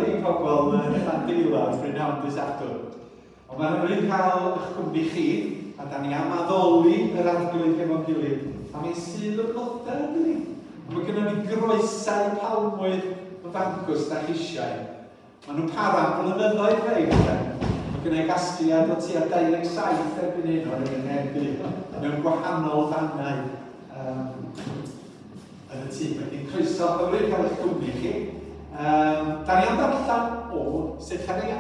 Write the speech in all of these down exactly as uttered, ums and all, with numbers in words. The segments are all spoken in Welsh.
i pobl yn Llandeilo brynhawn dydd Sadwrn. Ond mae'n hyfryd cael eich cwmni chi, a da ni am addoli yr Arglwydd hefo'n gilydd. A mae'n Sul y Blodau, ydy ni? Mae gennym ni groesau palmwydd yn fancws da chi eisiau. Maen nhw'n para am blynyddoedd rhai weithiau. Mae gennau gasgliad o tua dau ddeg saith erbyn hyn o'r un heddiw mewn gwahanol fannau um, yn y tŷ. Felly croeso hyfryd cael eich cwmni chi. Um, da ni am ddarllen o Sechareia.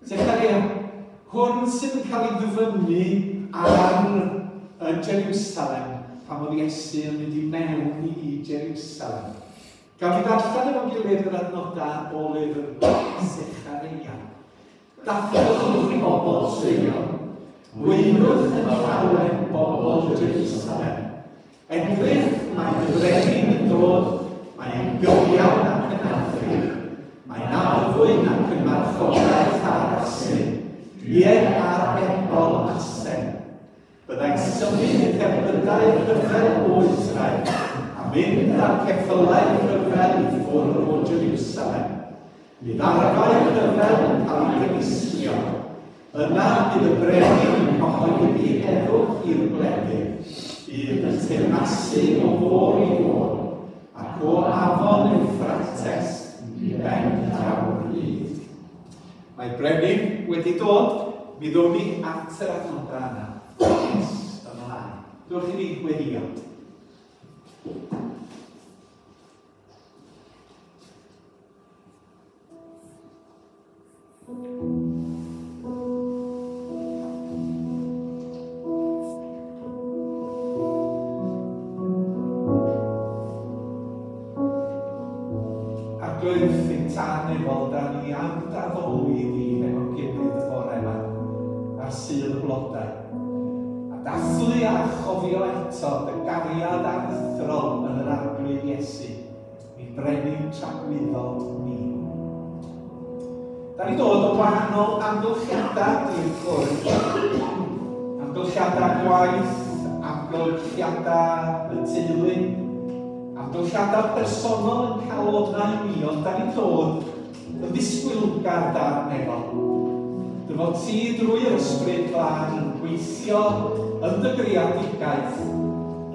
Sechareia, hwn sydd yn cael ei ddyfynnu ar yn Jerusalem pan oedd Iesu yn mynd i mewn i Jerusalem. Gawn ni ddarllen efo'n gilydd yr adnodau o lyfr Sechareia. Dathlwch bobl Seion, gweinwch yn llawen bobl Jerusalem. Edrych, mae y brenin yn dod, mae'n gyfiawn ac yn arfyn, mae'n arfwyn ac yn marchogaeth ar asyn, ie ar ebol asen. Byddai'n symud y cerbydau rhyfel o Israel, a mynd â'r ceffylau rhyfel i ffwrdd o Jerusalem. Bydd arfau rhyfel yn cael eu dinistrio. Yna bydd y brenin yn cyhoeddi heddwch i'r gwledydd. Bydd yn teyrnasu o fôr i fôr, ac o afon Euphrates i ben draw'r byd. Mae brenin wedi dod, mi ddown ni at yr adnodau yna. Nes ymlaen. Dewch i ni weddio. Arglwydd ein tân efo, da ni am d'addoli di efo'n gilydd y bore yma, ar Sul y Blodau. A dathlu a chofio eto dy gariad aruthrol yn yr Arglwydd Iesu, mi brenin tragwyddol ni. Da ni dod o wahanol amgylchiadau i'r cwrdd. Amgylchiadau gwaith, amgylchiadau y teulu, amgylchiadau personol yn calonnau ni, ond da ni'n dod yn ddisgwylgar dan efo. Dy fod ti drwy'r Ysbryd Glân yn gweithio yn dy greadigaeth,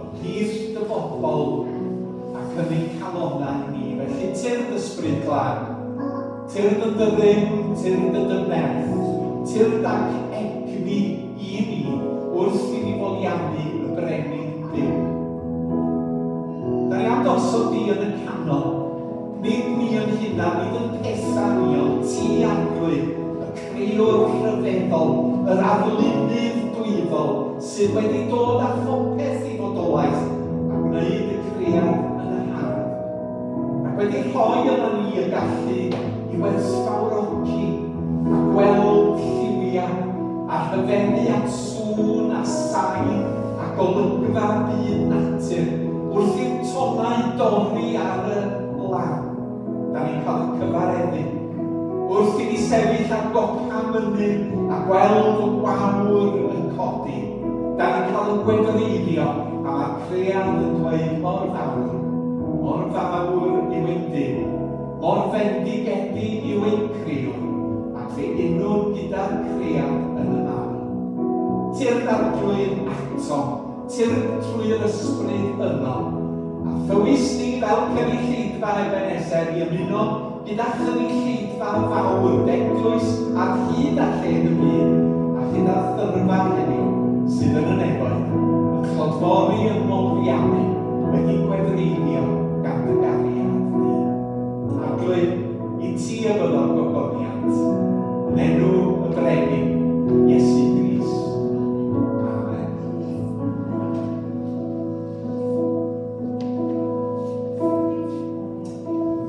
ymhlith dy bobl ac yn ein calonnau ni. Felly tyrd Ysbryd Glân, tyrd yn dy rym, tyrd yn dy nerth, tyrd ac egni i ni wrth i ni foliannu y brenin Duw. Da ni am gosod di yn y canol, nid ni yn hunan, nid yn pethau ni, ond ti Arglwydd, y crëwr rhyfeddol, yr arlunydd dwyfol, sydd wedi dod â phopeth i fodolaeth a gwneud y cread yn yr hardd. Ac wedi rhoi yna ni y gallu i werthfawrogi a gweld lliwiau a rhyfeddu at sŵn a sain a golygfa byd natur wrth i'r tonnau dorri ar y lan. Da ni'n cael y cyfareddu. Wrth i ni sefyll ar gopa mynydd a gweld y gwawr yn codi, da ni'n cael y gwefreiddio a mae'r cread yn dweud mor fawr, mor fawr yw ein Duw, mor fendigedig yw ein crëwr, ac fe unwn gyda'r cread yn y mawl. Tyrd Arglwydd atom, tyrd trwy'r Ysbryd yno, a thywys ni fel cynulleidfa Ebenezer i ymuno gyda chynulleidfa fawr d'eglwys ar hyd a lled y byd, a chyda thyrfa heddiw sydd yn y nefoedd, yn clodfori yn molfiannu, wedi gwefreiddio gan dy gariad di. Arglwydd, i ti y byddo'r gogoniant, yn enw y brenin, Iesu Grist. Amen.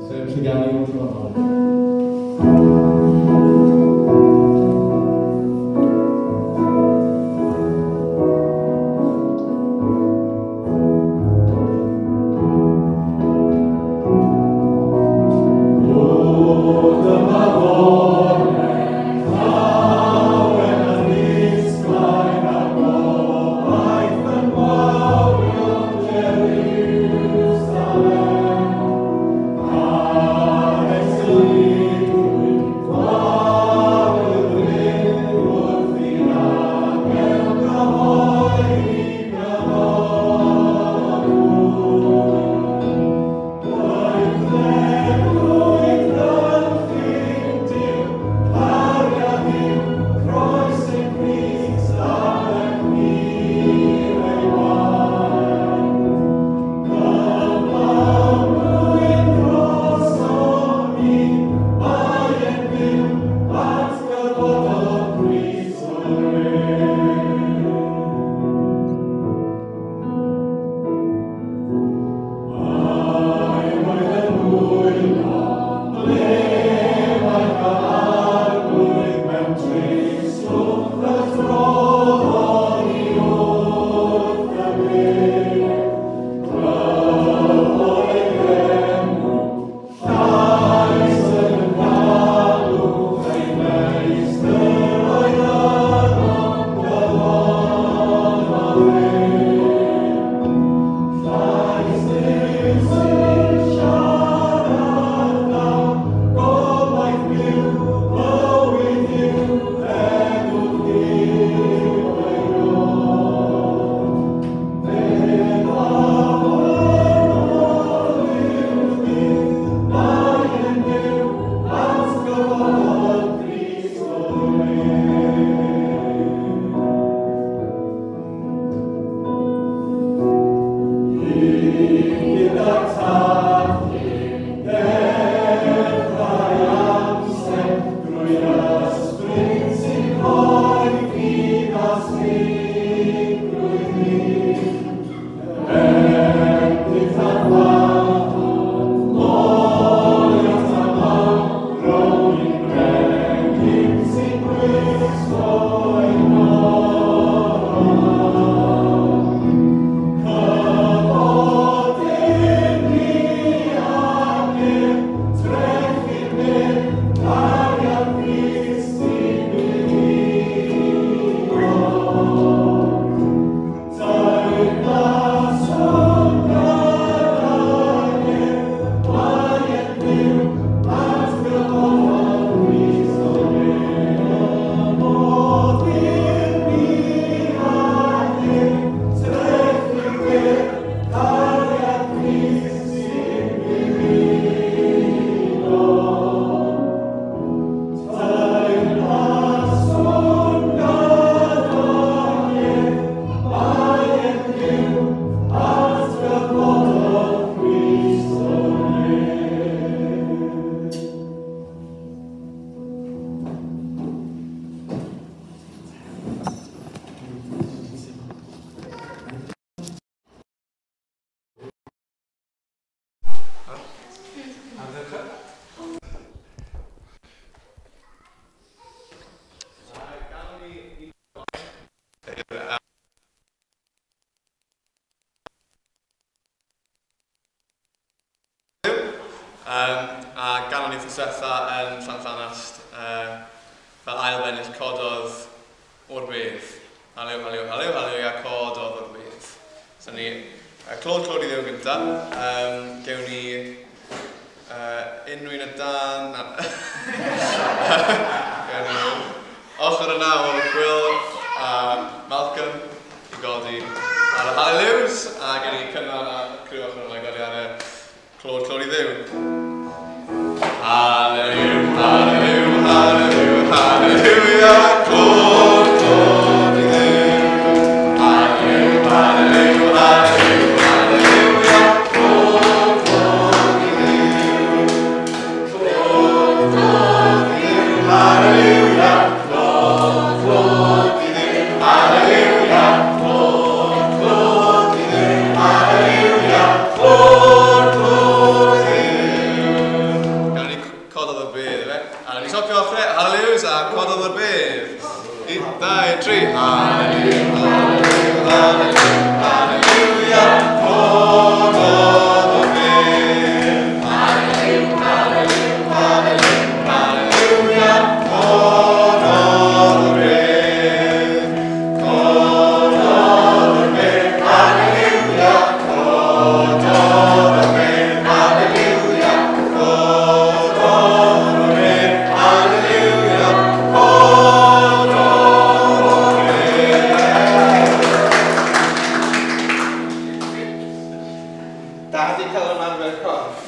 Sef Llyganu wrth y Jerusalem. eto. Um, a ganon ni ffwsetha yn Llanllanast, uh, fel ail bennill cododd o'r bedd. Haliw, haliw, haliw, haliw, cododd o'r bedd. So ni, uh, clod, clod i Dduw gynta. Um, gewn ni uh, unrhyw un y dan. Gewn ni ochr yna o Gwil a Malcolm i godi ar y hallelujahs, a gewn ni Cynan a criw ochr yna i godi ar y clod, clod i Dduw. Hallelujah, hallelujah, hallelujah, hallelujah, clod, clod i Dduw. Hallelujah, hallelujah, hallelujah, hallelujah, clod, clod i Dduw. Clod, clod i Dduw, hallelujah, clod, clod i Dduw, hallelujah, clod, clod i Dduw, hallelujah, clod, clod i Dduw. Gawn ni cododd o'r bedd, efe? A ni stopio ochrau, hallelujahs, a cododd o'r bedd. Un, dau, tri. Hallelujah, hallelujah, hallelujah, hallelujah, cododd o'r bedd. Hallelujah, hallelujah, hallelujah, hallelujah, cododd o'r bedd. Cododd o'r bedd, hallelujah, cododd o'r bedd, hallelujah, cododd o'r bedd, hallelujah, cododd o'r bedd. Da di cael ymarfer corff.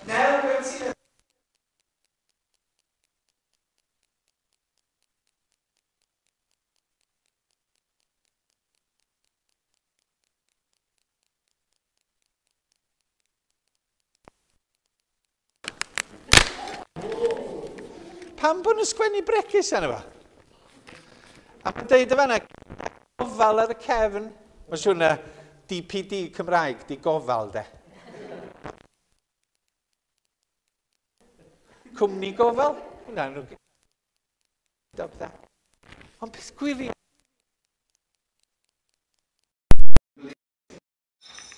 Nel, beth ti'n Pam bod nhw'n sgwennu bregus arno fo? A mae'n deud y fanna, gofal ar y cefn. Mae'n siŵr na D P D Cymraeg, di gofal de. Cwmni gofal? Hwna, nhw'n pethau. Ond peth gwirion.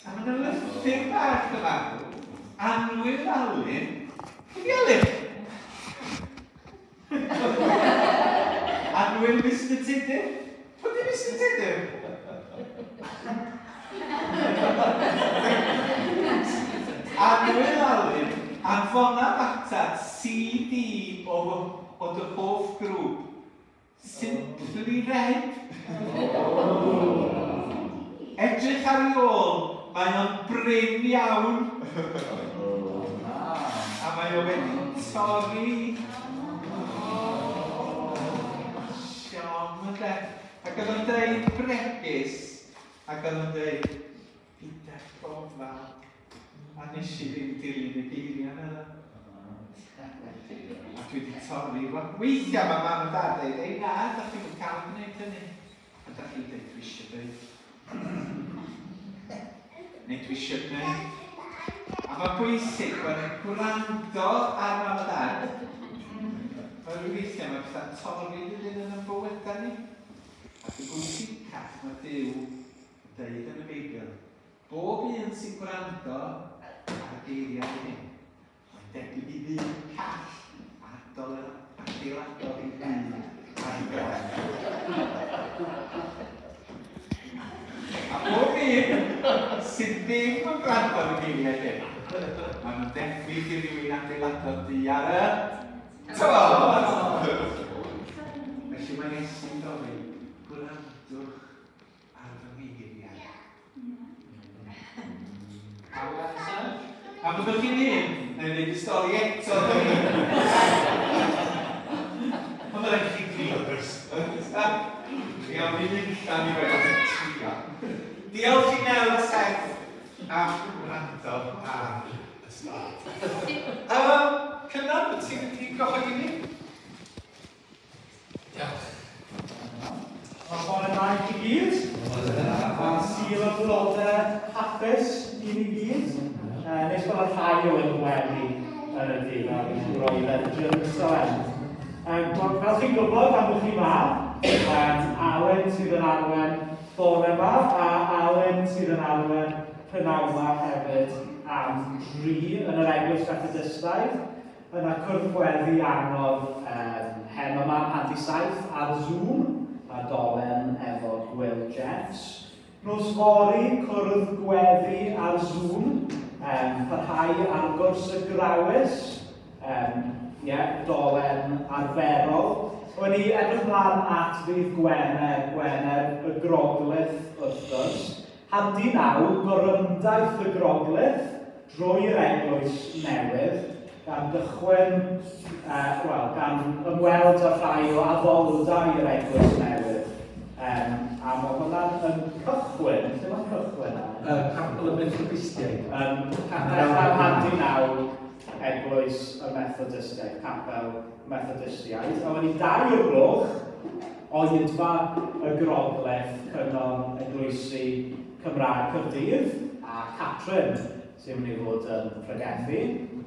A mae yna lythyr bach yma. Annwyl Alun. Pwy di Alun? Annwyl Mister Tudur. Pwy di Mister Tudur? Annwyl Alun, anfona ata C D o, o dy hoff grŵp. Simply Red. Edrych ar ei ôl, mae o'n brin iawn. A mae o wedi torri. Siom ynde. Ac oedd o'n deud bregus, ac oedd o'n deud, gyda gofal. A nes i ddim dilyn y geiriau yna. A dwi wedi torri. Weithiau mae mam a dad dweud, ei na, da chi'n cael gwneud hynny. A da chi'n dweud, dwi eisiau dweud. Neu dwi eisiau gwneud. A mae'n bwysig bod yn gwrando ar mam a dad. Mae rhyw weithiau mae pethau'n torri ddyn yn ein bywydau ni. Ac yn bwysicach mae Duw yn deud yn y Beibl, bob un sy'n gwrando ar y geiriau hyn, mae'n debyg i ddyn call adeiladodd ei dŷ ar ei ben. A bob un sydd ddim yn gwrando ar y geiriau hyn, maen nhw'n debyg i rywun adeiladodd dŷ ar y tywod. Felly mae Iesu'n gofyn, gwrandwch ar fy ngeiriau. A byddwch chi'n un, neu wneud y stori eto. Ond rhaid chi Chi am i allan i wedi trio. Diolch i Nel a Seth am wrando ar y stad. Um, Cynan, wyt ti'n wedi gyhoeddi ni? Diolch. Mae bore da i chi gyd. A Sul y Blodau hapus i ni gyd. Uh, nes bod y rhai o yn gwely yn y dydd, a fi'n siŵr oedd e'n Jerusalem. Um, fel chi'n gwybod am chi ma, um, Alan sydd yn arwen bore yma, a Alan sydd yn arwen prynhawn yma hefyd am dri yn yr Eglwys Fethodistaidd. Yna cwrdd gweddi anodd um, heno yma am hanner saith ar Zoom, a dolen efo Gwil Jeffs. Nos fory, cwrdd gweddi ar Zoom, um, parhau ar gwrs y Grawys, um, yeah, dolen arferol. O'n i edrych mlaen at ddydd Gwener, Gwener y Groglith wrth gwrs. Handi naw, gorymdaith y Groglith drwy'r eglwys newydd, gan gychwyn, uh, wel, gan ymweld â rhai o addoldai yr eglwys newydd. Um, a mae hwnna'n yn cychwyn, lle mae'n cychwyn am? Uh, Capel y Methodistiaid. Um, Capel Handi naw, Eglwys y Methodistiaid, Capel Methodistiaid. A wedi dau o'r gloch, oedfa y Grogleth, Cyngor Eglwysi Cymraeg Caerdydd, a Catrin sy'n mynd i fod yn pregethu.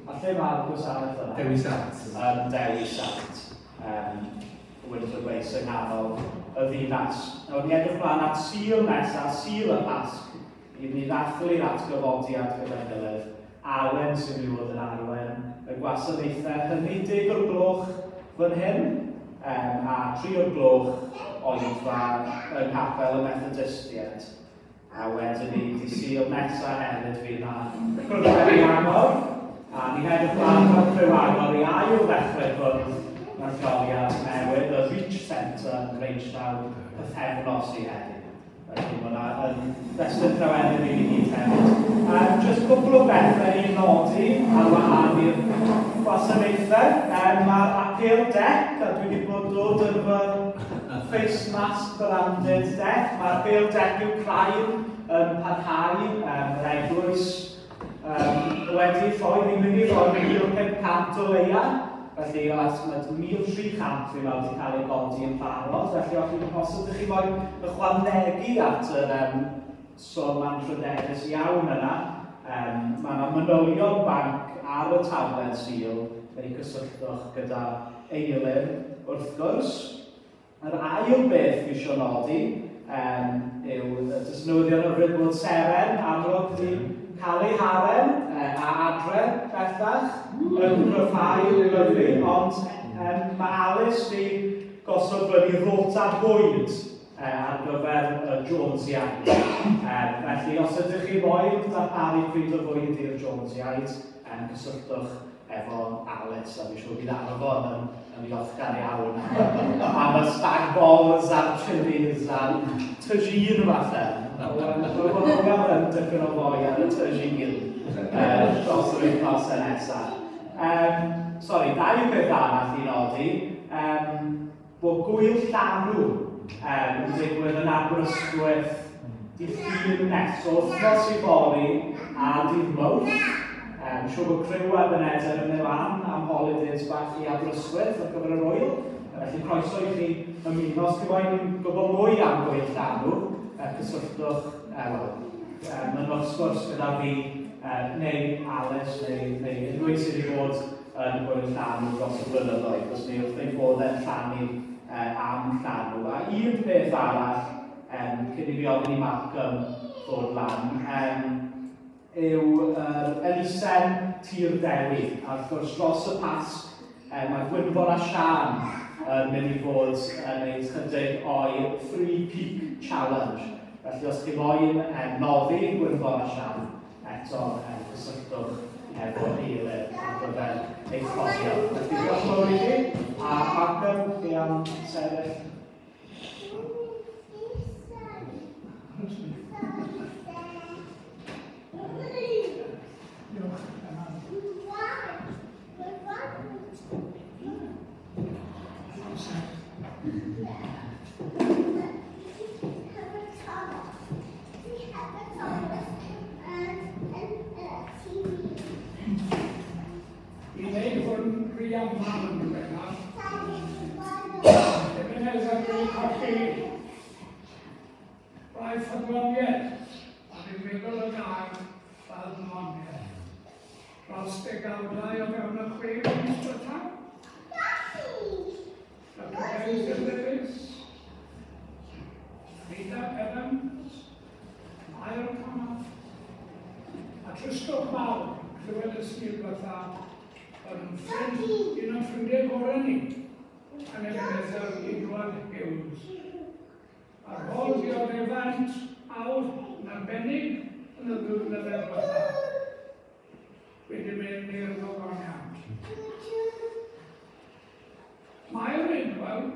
A lle mae'r gwasanaeth yna? Dewi Sant. Yn Dewi Sant. Um, Winter Place yng nghanol y ddinas. Nawr ni edrych mlaen at Sul nesaf, Sul y Pasg, i ni ddathlu'r atgyfodiad gyda'n gilydd. Awen sy'n mynd i fod yn arwen y gwasanaethau hynny, deg o'r gloch fan hyn, um, a tri o'r gloch oedfa yng Nghapel y Methodistiaid. A wedyn ni, di Sul nesaf hefyd fydd na cwrdd agor, a ni'n edrych mlaen fel criw agor i ail ddechrau cwrdd mewn lleoliad newydd, y Reach Centre yn Grangetown, pythefnos i heddiw. Felly mae hwnna yn destun llawenydd i ni gyd hefyd. Um, just cwpl o bethau i nodi ar wahân i'r gwasanaethau. Um, Mae'r apêl deck, a dwi wedi bod dod yn fy face mask branded deck. Mae'r apêl deck Wcráin yn parhau, um, yr eglwys um, wedi rhoi, ni'n mynd i rhoi mil pump cant o leia. Felly, mae mil tri cant fi'n meddwl wedi cael ei godi yn barod. Felly, os, os ydych chi moyn ychwanegu at yr um, swm anrhydeddus iawn yna, um, mae yna manylion banc ar y taflen Sul, neu cysylltwch gyda Eilir wrth gwrs. Yr ail beth fi eisiau nodi um, yw jyst newyddion hyfryd bod Seren amlwg wedi cael ei haren a adre bellach yn cryfhau lyfli, ond um, mae Alice wedi gosod fyny rota bwyd uh, ar gyfer y Jonesiaid. Um, felly, os ydych chi moyn darparu pryd o fwyd i'r Jonesiaid, um, cysylltwch efo Alice, a fi'n siŵr bydd Arfon yn, yn ddiolchgar iawn am y stag balls a'r chilies a'r tagine falle. Mae'n yn dipyn o foi ar y tagine dros yr wythnosau nesaf. Um, sorry, dau peth arall i nodi, um, bod gwyl llanw um, yn digwydd yn Aberystwyth dydd Llun nesaf, wythnos i fory a dydd Mawrth. Um, siŵr bod criw Ebenezer yn mynd lan am holidays bach i Aberystwyth ar gyfer yr wyl. Felly croeso i chi ymuno. Os chi moyn gwybod mwy am gwyl llanw, cysylltwch, uh, wel, uh, mynnwch sgwrs gyda fi, uh, neu Alice, neu, neu unrhyw un sydd wedi bod yn gwyl llanw dros y blynyddoedd, os ni wrth ein bod yn rhannu uh, am llanw. A un peth arall, um, cyn i fi ofyn i Malcolm ddod lan, um, yw yr elusen Tir Dewi. A wrth gwrs dros y Pasg, um, mae Gwynfor a Sian yn mynd i fod yn gwneud chydig o'i Three Peak Challenge. Felly os chi moyn um, noddi Gwynfor a Sian, eto um, cysylltwch efo Eilir ar gyfer eich rhoddion. Felly diolch yn fawr i chi, a Malcolm, chi am sefyll. I wneud hwn rhy aml yn ddiweddar. Ebenezer wedi colli rai ffyddloniaeth, a fi'n meddwl y gair ffyddloniaeth. Dros degawdau o fewn y chwe mis diwethaf. Doctor Hazel Lewis, Rita Evans, Mair Thomas, a tristwch mawr, clywed y Sul diwethaf, oedd yn ffrind, un o'n ffrindiau gorau ni, yn Ebenezer Edward Hughes. Ar ôl dioddefant awr yn arbennig yn y ddwy flynedd diwethaf, wedi mynd i'r ddogoniant. Mae'r Edward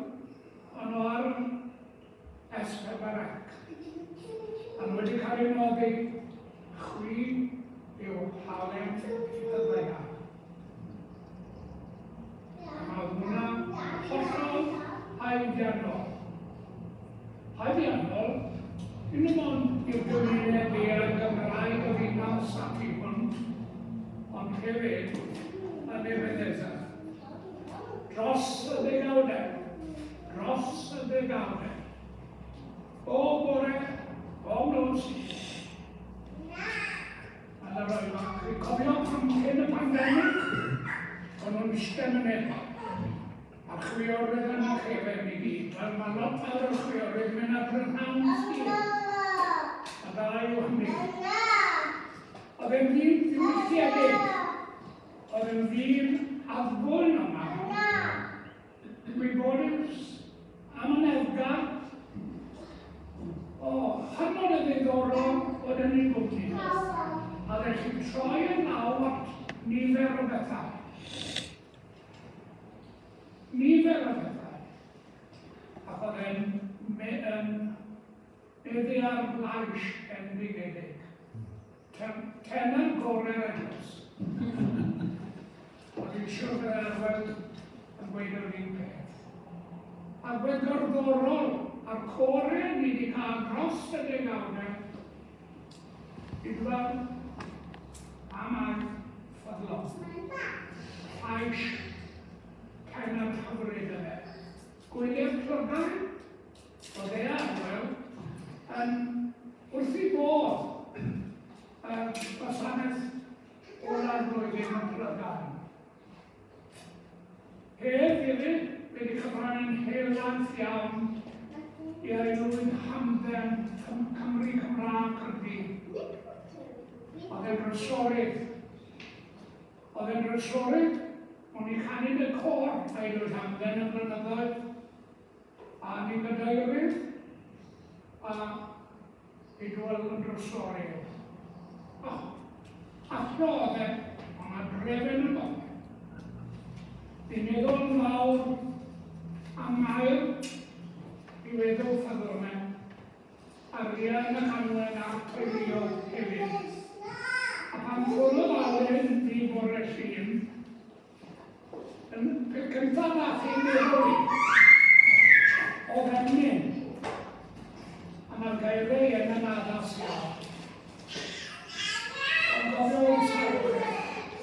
yn o'r S pedwar C, a nhw wedi cael ei noddi, chwi yw halen y ddaear. A mae hwnna hollol haeddiannol. Haeddiannol, un ond i'r gymuned eang Gymraeg y ddinas a thu hwnt, ond hefyd yn Ebenezer. Dros y ddegawdau, dros y ddegawdau. Bob bore, bob nos. A na roi, chi'n cofio pan cyn y pandemig, o'n nhw'n eistedd yn efo. A chwiorydd yn y chefen i gyd. Wel, mae lot fawr o chwiorydd mynd ar brynhawn Sul. A dda yw hynny. Oedd e'n ddyn ddiwylliedig. Oedd e'n ddyn addfwyn yma. Gwybodus, amyneddgar. O, hynod o ddiddorol oedd yn ei gwmni. A felly troi yn law at nifer o bethau. Nifer o bethau. Ac oedd e'n meddu ar lais endigedig. Tenor gorau'r eglwys. Oedd hi'n siŵr bod Arwel yn gweud yr un peth. Agwedd gerddorol a'r corau ni wedi cael dros y degawdau, Idwal a Mair ffyddlon. Llais tenor hyfryd yna. Gwylio'r Plygain, oedd e Arwel, yn wrth ei bodd y gwasanaeth ola'r flwyddyn yn Plygain. Hedd hefyd wedi cyfrannu'n helaeth iawn i aelwyd hamdden Cymru Cymraeg Caerdydd. Oedd e'n drysorydd. Oedd e'n drysorydd, o'n i chanu'n y côr aelwyd hamdden y blynyddoedd, a ni'n gadeirydd, a Idwal yn drysorydd. Oh, athro oedd e, ond mae drefen yn bod. Fi'n meddwl yn fawr am Mair i weddw ffyddlonau, Arian ac Anwen a'r teuluoedd hefyd. A pan ffwrdd Alun fi bore Llun, yn peth cyntaf nath i'n meddwl i, oedd emyn, a mae'r geiriau yn yn addas iawn. Ond gofio o'i sawl,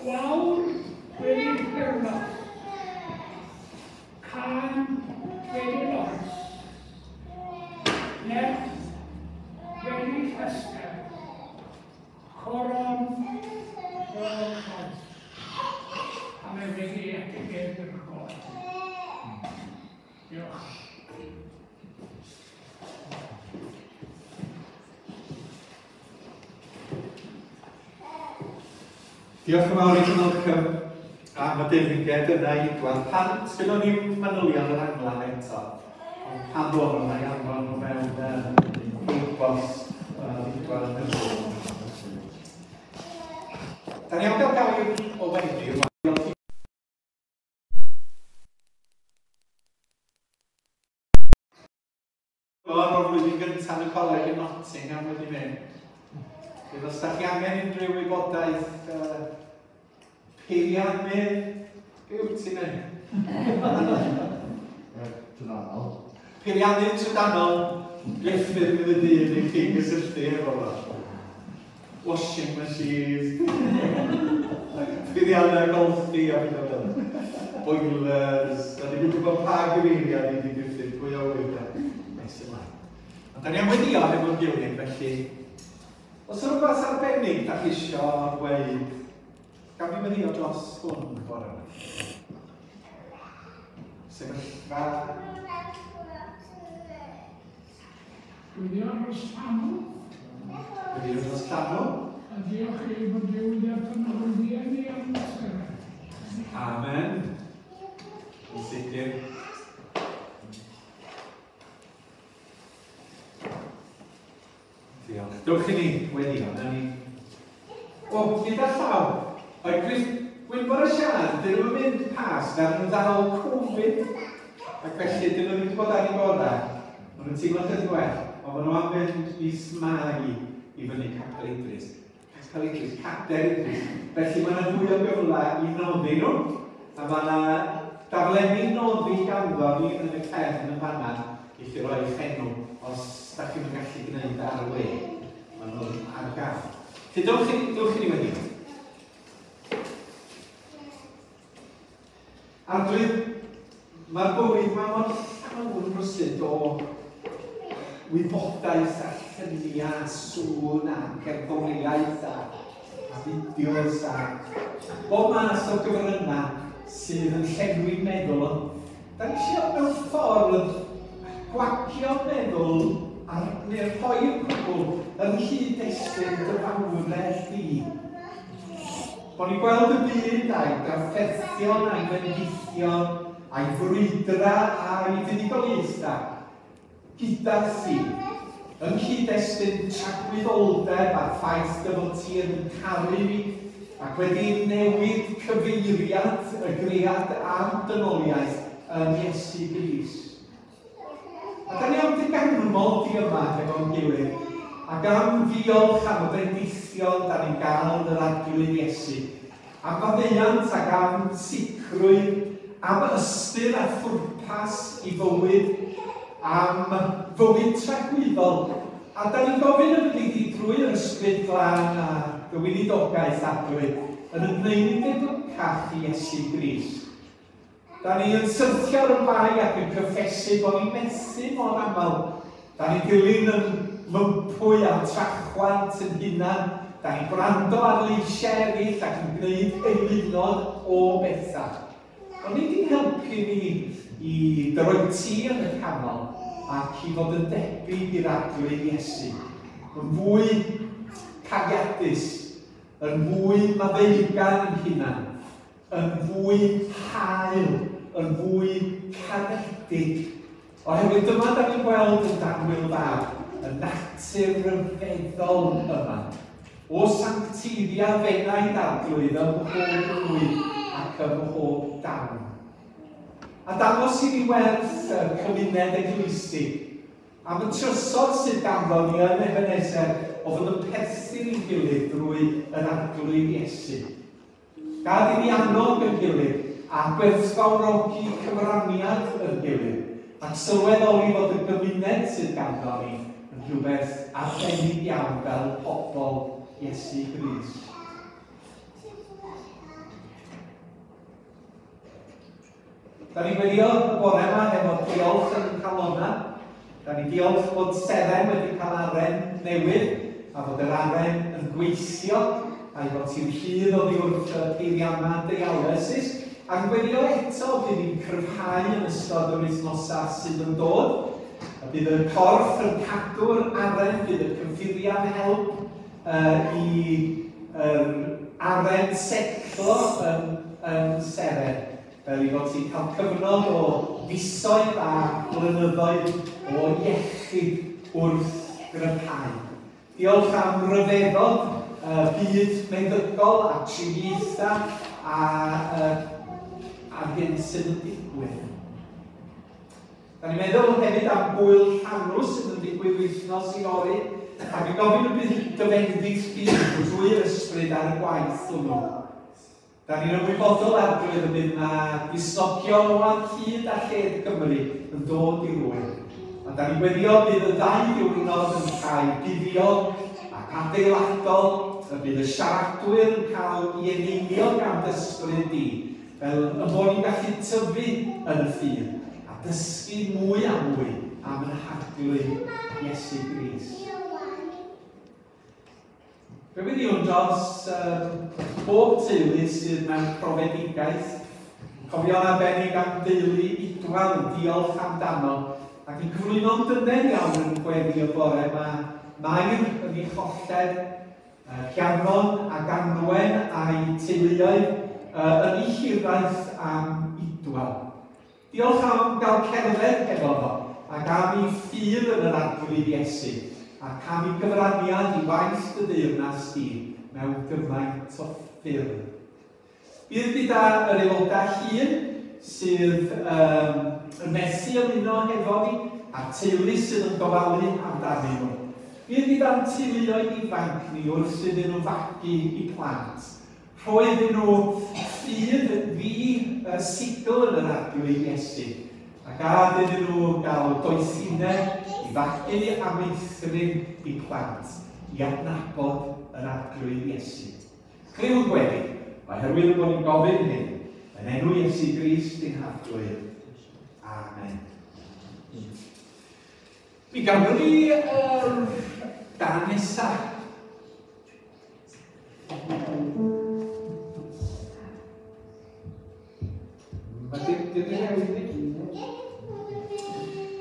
gwawr wedi hirno, can wedi loes, nerth wedi llesger, coron o'r croes, a mae wedi etifeddu'r golau. Diolch. Diolch yn fawr i ti, Malcolm, am y deyrnged yna i Idwal. Pan sgynnon ni'm manylion yr angladd eto, ond pan ddod nhw'n ei anfon nhw mewn e-bost Idwal yn y bôn. Da ni am gael gair o Wendy rwan. O'r flwyddyn gyntaf yn y coleg yn Nottingham wedi mynd. Felly, os da chi angen unrhyw wybodaeth uh, peiriannydd, be wyt ti'n neud? trydanol. Peiriannydd trydanol, Griffith fydd y dyn i chi gysylltu efo fo. Washing machines, peiriannau golchi a pethau fel. Boilers, a ni'n gwybod pa gyfeiriad i di Griffith, pwy a wyr da. Nes ymlaen. Ond da ni am weddïo hefo'n gilydd, felly, os yna rhywbeth arbennig da chi isio gweud, gaf fi weddïo dros hwn bore yma? Sefyllfa. Gweddio dros llanw. Gweddio dros llanw. A diolch i fod Duw wedi adnewyddu ni am amser. Amen. Yn sicr. Diolch. Dewch i ni weddio, na ni. O, gyda llaw, oedd Chris Gwynfor a Sian, dyn nhw'n mynd pas, na nhw'n ddal Covid, ac felly dyn nhw ddim wedi bod ar eu gorau. Maen nhw'n teimlo chydig well, ond maen nhw am fynd mis Mai i fyny Capel Idris. Capel Idris, Cader Idris. Felly mae yna fwy o gyfle i noddi nhw, a mae yna daflenni noddi ganddo ni yn y cefn yn fanna i chi roi eich enw os da chi'n gallu gwneud ar y we. Maen nhw'n ar gael. Felly dewch i, dewch i ni wedi. Arglwydd, mae'r bywyd yma mor llawn rywsut o wybodaeth a lluniau, sŵn a cerddoriaeth a, a fideos a bob math o gyfryngau sydd yn llenwi meddwl. Da ni eisiau mewn ffordd gwagio meddwl a neu rhoi'r cwbl yn nghyd-destun dy fawredd di. Bo ni'n gweld y byd a'i drafferthion a'i fendithion a'i frwydra a'i fuddugoliaethau gyda thi, yng nghyd-destun tragwyddoldeb a'r ffaith dy fod ti yn caru fi ac wedi newid cyfeiriad y gread a'r dynoliaeth yn Iesu Grist. A da ni am dy ganmol di yma hefo'n gilydd, ac am ddiolch am y bendithion da ni'n gael yn yr Arglwydd Iesu, am faddeuant ac am sicrwydd, am ystyr a phwrpas i fywyd, am fywyd tragwyddol. A da ni'n gofyn y byddi di drwy'r Ysbryd Glân a dy weinidogaeth Arglwydd yn ymwneud ni'n debycach i Iesu Grist. Da ni yn syrthio ar y bai ac yn cyffesu bod ni'n methu mor aml. Da ni'n dilyn yn mympwy a'n trachwant yn hunan. Da ni'n gwrando ar leisiau eraill ac yn gwneud eilunod o bethau. Ond ni di'n helpu ni i dy roi ti yn y canol ac i fod yn debyg i'r Arglwydd Iesu. Yn fwy cariadus, yn fwy maddeugar yn hunan, yn fwy hael, yn fwy caredig. Oherwydd dyma da ni'n gweld yn Danwyl Fab, y natur ryfeddol yma. O sancteiddia fenaid Arglwydd ym mhob nwy ac ym mhob dawn. A dangos i ni werth y cymuned eglwysig, am y trysor sydd ganddo ni yn Ebenezer o fod yn perthyn i'n gilydd drwy yr Arglwydd Iesu. Gad i ni annog yn gilydd a gwerthfawrogi cyfraniad yn gilydd, ac sylweddoli fod y gymuned sydd ganddo ni yn rhywbeth arbennig iawn fel pobl Iesu Grist. Da ni'n gweddio y bore yma efo diolch yn calona. Da ni'n diolch bod Seren wedi cael aren newydd a bod yr aren yn gweithio a'i fod ti'n rhydd oddi wrth y peiriannau dialysis. Ac yn gweddio eto bydd ni'n cryfhau yn ystod yr wythnosau sydd yn dod. A bydd y corff yn cadw'r aren, bydd y cyffuriau'n help uh, i um, aren setlo yn, yn Seren. Fel i fod ti'n cael cyfnod o fisoedd a blynyddoedd o iechyd wrth gryfhau. Diolch am ryfeddod uh, byd meddygol a triniaethau a, uh, a'r hyn sydd yn digwydd. Da ni'n meddwl hefyd am gwyl llanw sydd yn digwydd wythnos i fory, ac yn gofyn y bydd dy fendith di drwy'r ysbryd ar y gwaith hwnnw. Da ni'n ymwybodol Arglwydd y bydd na Gristnogion o ar hyd a lled Gymru yn dod i'r ŵyl. A da ni'n gweddio bydd y ddau ddiwrnod yn cael buddiol ac adeiladol, y bydd y siaradwyr yn cael ei eneinio gan dy ysbryd di, fel y bod ni'n gallu tyfu yn y ffydd a dysgu mwy a mwy am ein Harglwydd Iesu Grist. Fe weddïwn dros um, bob teulu sydd mewn profedigaeth, cofio'n arbennig am deulu Idwal yn diolch amdano, ac yn cyflwyno'n dyner iawn yn gweddi y bore yma, Mair yn ei cholled, uh, Rhiannon ac Anwen a'i teuluoedd uh, yn ei hiraeth am Idwal. Diolch am gael cerdded hefo fo, ac am ei ffydd yn yr Arglwydd Iesu, ac am ei gyfraniad i waith dy deyrnas di mewn gymaint o ffyrdd. Bydd gyda yr aelodau hŷn sydd um, yn methu ymuno hefo ni, a'r teulu sydd yn gofalu amdanyn nhw. Bydd gyda'n teuluoedd ifanc ni wrth iddyn nhw fagu eu plant. Rhoi iddyn nhw ffydd ddi uh, sigl yn yr Arglwydd Iesu, a gad iddyn nhw gael doethineb i fagu a meithrin eu plant i adnabod yr Arglwydd Iesu. Clyw gweddi, oherwydd bod ni'n gofyn hyn, yn enw Iesu Grist ein Harglwydd. Amen. Mi gafon ni yr gân nesaf. Mae dim dim newid ni.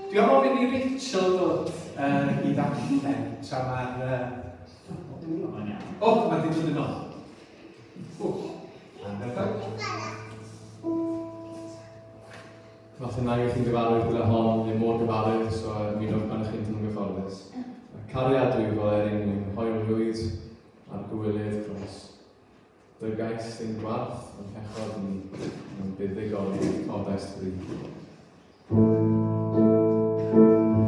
Dwi am ofyn i Rachel ddod uh, i ddarllen tra mae'r... Uh... O, mae di dod yn ôl. O, ardderchog. Falle nag ych chi'n gyfarwydd gyda hon, neu mor gyfarwydd, so ymunwch pan ych chi'n teimlo'n gyfforddus. Cariad dwyfol er ein mwyn, hoelrwydd ar gywilydd croes. Dygais ein gwarth yn pechod ni, mewn buddugoliaeth codais fri. Cariad dwyfol er ein mwyn, hoelrwydd ar gywilydd.